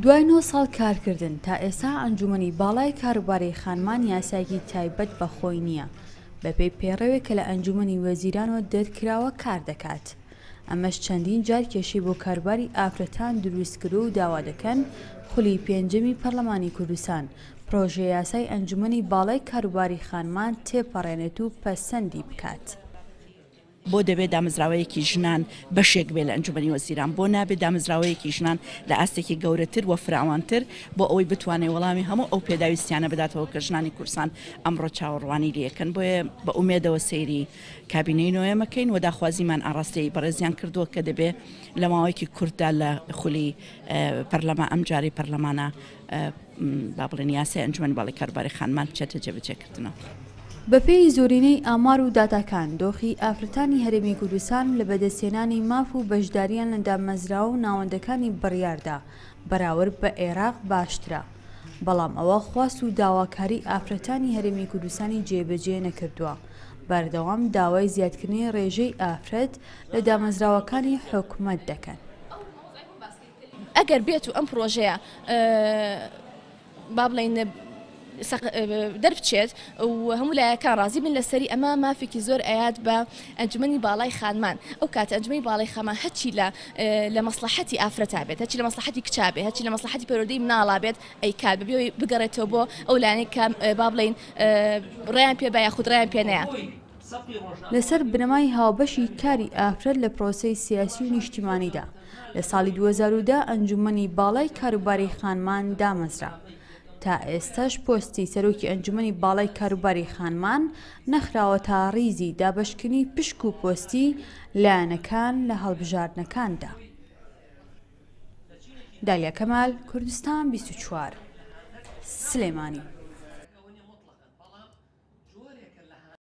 دوای نۆ ساڵ کارکردن، تا ئێستا ئەنجومەنی باڵای کاروباری خانمان یاسایەکی تایبەت بە خۆی نییە، بەپێی پەیڕەوێک کە لە ئەنجومەنی وەزیرانەوە دەرکراوە کاردەکات. ئەمەش چەندین جار کێشەی بۆ کاروباری ئافرەتان دروستکردووە و داوا دەکەن خولی پێنجەمی پەرلەمانی کوردستان پرۆژەیاسای ئەنجومەنی باڵای کاروباری خانمان تێپەڕێنێت و پەسەندی بکات. بۆ دەبێت دامەزراوەیەکی ژنان بەشێک بێت لە ئەنجومەنی وەزیران؟ بۆ نابێت دامەزراوەیەکی ژنان لە ئاستێکی گەورەتر و فراوانتر بۆ ئەوەی بتوانێت وەڵامی هەموو ئەو پێداویستیانە بداتەوە کە ژنانی کوردستان ئەمڕۆ چاوەڕوانی لێکەن؟ بۆیە بە ئومێدەوە سەیری کابینەی نۆیەم ئەکەین و داخوازیمان ئاڕاستەی بەڕێزیان کردووە کە دەبێت لە ماوەیەکی کورتدا لە خولی پەرلەمان ئەمجارەی پەرلەمانە با بڵێن یاسای ئەنجومەنی باڵای کاروباری خانمان بچێتە جێبەجێکردنەوە. بەپێی زۆرینەی ئامار و داتاکان، دۆخی ئافرەتانی هەرێمی کوردستان لە بەدەستهێنانی ماف و بەشدارییان لە دامەزراوە و ناوەندەکانی بڕیاردا بەراورد بە عێراق باشترە، بەڵام ئەوە خواست و داواکاری ئافرەتانی هەرێمی کوردستانی جێبەجێ نەکردووە، بەردەوام داوای زیادکردنی ڕێژەی ئافرەت لە دامەزراوەکانی حکومەت دەکەن. ئەگەر بێت و ئەم پرۆژەیە با بڵێین دەربچێت و هەموو لایەکان ڕازی بن لەسەری ئەمە مافێکی زۆر ئەیات بە ئەنجومەنی باڵای خانمان ئەو کاتە ئەنجومەنی باڵای خانمان هەرچی لە لە مەسڵەحەتی ئافرەتا بێت هەرچی لە مەسڵەحەتی کچا بێت هەرچی لە مەسڵەحەتی پەروەردەی مناڵا بێت ئەیکات بەبێ ئەوەی بگەڕێتەوە بۆ ئەو لایەنەی کە با بڵێین ڕێیان پێ با یاخود ڕێیان پێ نەیا. لەسەر بنەمای هاوبەشی کاری ئافرەت لە پرۆسەی سیاسی و نیشتیمانیدا، لە ساڵی 2010 ئەنجومەنی باڵای کاروباری خانمان دامەزرا. تا ئێستاش پۆستی سەرۆکی ئەنجومەنی باڵای کاروباری خانمان نەخراوەتە ڕیزی دابەشکردنی پشک و پۆستی لایەنەکان لە هەڵبژاردنەکاندا. دالیا کەمال، کوردستان 24، سلێمانی.